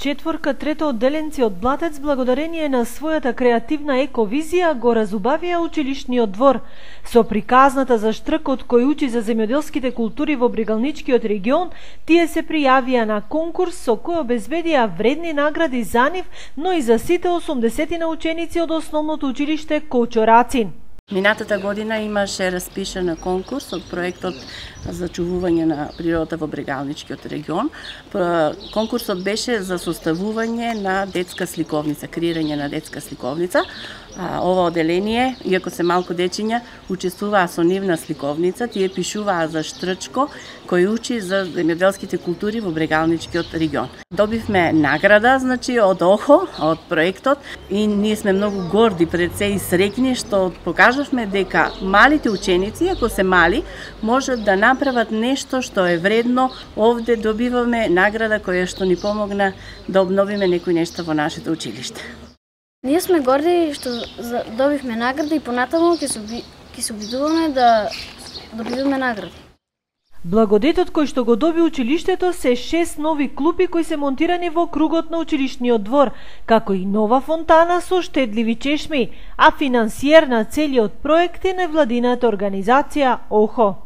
четворка трето одделенци од Блатец благодарение на својата креативна ековизија го разубавија училишниот двор. Со приказната за штркот кој учи за земјоделските култури во Брегалничкиот регион, тие се пријавија на конкурс со кој обезбедија вредни награди за нив, но и за сите 80 на ученици од основното училиште Кочо Рацин. Минатата година имаше распишан конкурс од проектот за чувување на природата во Брегалничкиот регион. Конкурсот беше за составување на детска сликовница, креирање на детска сликовница. Ова одделение, иако се малку дечиња, учествуваа со нивна сликовница, тие пишуваа за Штрчко, кој учи за земјоделските култури во Брегалничкиот регион. Добивме награда, од ОХО, од проектот, и ние сме многу горди пред се и среќни што покажавме дека малите ученици, ако се мали, можат да направат нешто што е вредно. Овде добиваме награда која што ни помогна да обновиме некои нешта во нашето училиште. Ние сме горди што добивме награда и понатаму ќе се обидуваме да добиваме награди. Благодетот кој што го доби училиштето се 6 нови клупи кои се монтирани во кругот на училишниот двор, како и нова фонтана со штедливи чешми, а финансиер на целиот проект е невладината организација ОХО.